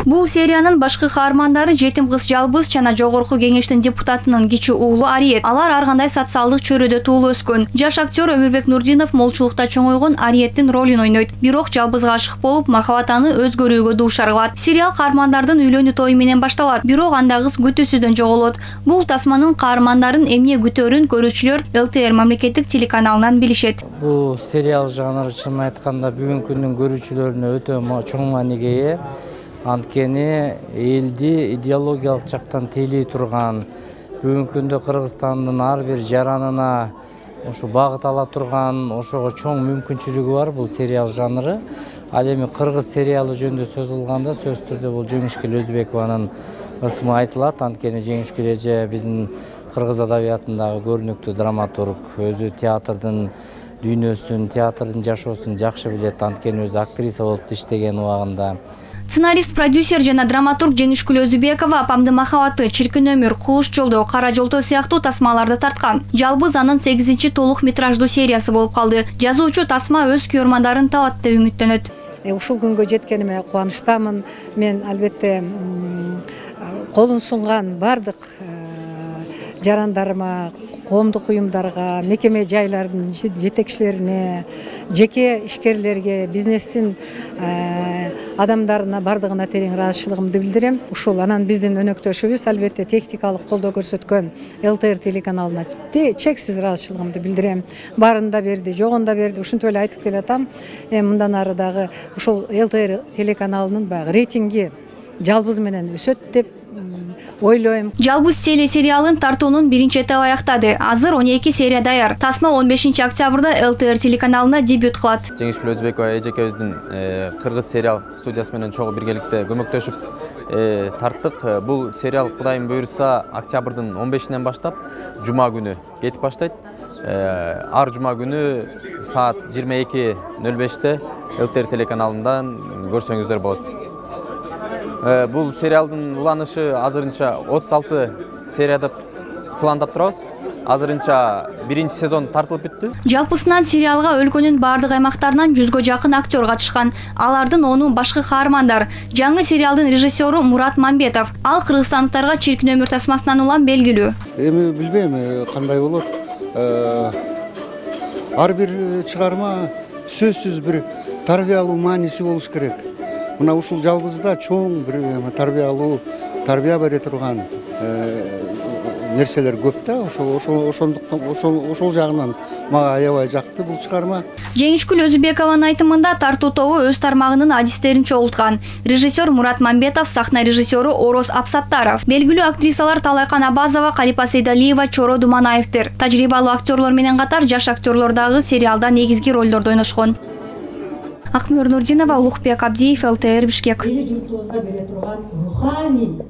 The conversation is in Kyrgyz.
Бул сериянын башкы каармандары жетим кыз жалбыз жана жогорку кеңештин депутатынын кичи уулу Ариет. Алар ар кандай социалдык чөйрөдө туулуп өскөн. Жаш актер Өмүрбек Нурдинов молчулукта чоңойгон Ариеттин ролун ойнойт. Бирок жалбызга ашык болуп, махабат аны өзгөрүүгө дуушар кылат. Сериал каармандардын үйлөнүү тою менен башталат, бирок анда кыз күтүүсүздөн жоголот. Бул тасманын каармандарын эмне күтөөрүн көрүүчүлөр ЛТР мамлекеттик телеканалынан билишет. Бул сериал жанры чын айтканда бүгүнкү күндүн көрүүчүлөрүнө өтө чоң мааниге ээ. Анткени элди идеологиялык жактан тейлей турган, бүгүнкү күндө Кыргызстандын ар бир жаранына ошо багыт ала турган, ошого чоң мүмкүнчүлүгү бар бул сериал жанры. Ал эми кыргыз сериалы жөнүндө сөз кылганда сөзсүз түрдө бул Жеңишкүл Өзбекованын ысмы айтылат. Анткени Жеңишкүл эже биздин кыргыз адабиятындагы көрүнүктүү драматург, өзү театрдын дүйнөсүн, театрдын жашоосун жакшы билет. Анткени өзү актриса болуп иштеген убагында. Сценарист, продюсер жана драматург Жеңишкүл Өзүбекова апамдын махабаты, чиркин өмүр, кулуш жолдоо, кара жолдоо сыяктуу тасмаларды тарткан. Жалбыз анын 8-чи толук метраждуу сериясы болуп калды. Жазуучу тасма өз көрөрмандарын табат деп үмүттөнөт. Ушул күнгө жеткениме кубанычтамын. Мен албетте колун сунган бардык жарандарыма, коомдук уюмдарга, мекеме жайлардын жетекчилерине, жеке ишкерлерге, бизнестин адамдарына бардыгына терең ыраазычылыгымды билдирем. Ушул анан биздин өнөктөшүбүз албетте техникалык колдоо көрсөткөн ЛТР телеканалына чексиз ыраазычылыгымды билдирем. Барын да берди, жогун да берди. Ушинтип эле айтып келатам. Мындан ары дагы ушул ЛТР телеканалынын баягы рейтинги жалбыз менен өсөт деп ойлойм. Жалбыз телесериалын тартуунун биринчи этабы аяктады. Азыр 12 серия даяр. Тасма 15 октябрда ЛТР телеканалына дебют кылат. Жеңишкүл Өзбекова эжекебиздин кыргыз сериал студиясы менен чогуу биргеликте көмөктөшүп тарттык. Бул сериал Кудайым буйруса октябрдын 15-нен баштап жума күнү кетип баштайт. Ар жума күнү саат 22:05-те ЛТР телеканалынан көрсөңүздөр болот. Бул сериалдын уланышы азырынча 36 серияда пландап турабыз. Азырынча биринчи сезон тартылып бүттү. Жалпысынан сериалга өлкөнүн бардык аймактарынан 100гө жакын актер катышкан. Алардын 10-у башкы каармандар. Жаңы сериалдын режиссеру Мурат Мамбетов. Ал кыргызстандыктарга чиркин өмүр тасмасынан улам белгилүү. Эми билбейм кандай болот. Ар бир чыгарма сөзсүз бир тарбиялуу мааниси болуш керек. Мына ушул жалбызда чоң бир тарбия бере турган нерселер көп да. Ошол жагынан мага аябай жакты бул чыгарма. Жеңишкүл Өзүбекованын айтымында тартуу тобу өз тармагынын адистерин чогулткан. Режиссер Мурат Мамбетов, сахна режиссеру Ороз Апсаттаров, белгилүү актрисалар Талайкан Абазова, Калипа Сейдалиева, Чоро Думанаевдер. Тажрыйбалуу актерлор менен катар жаш актерлор дагы сериалда негизги ролдорду ойношкон. Акмөр Нурдинова, Улукбек Абдиев, ЛТР Бишкек. Эл журтубузга бере турган руханий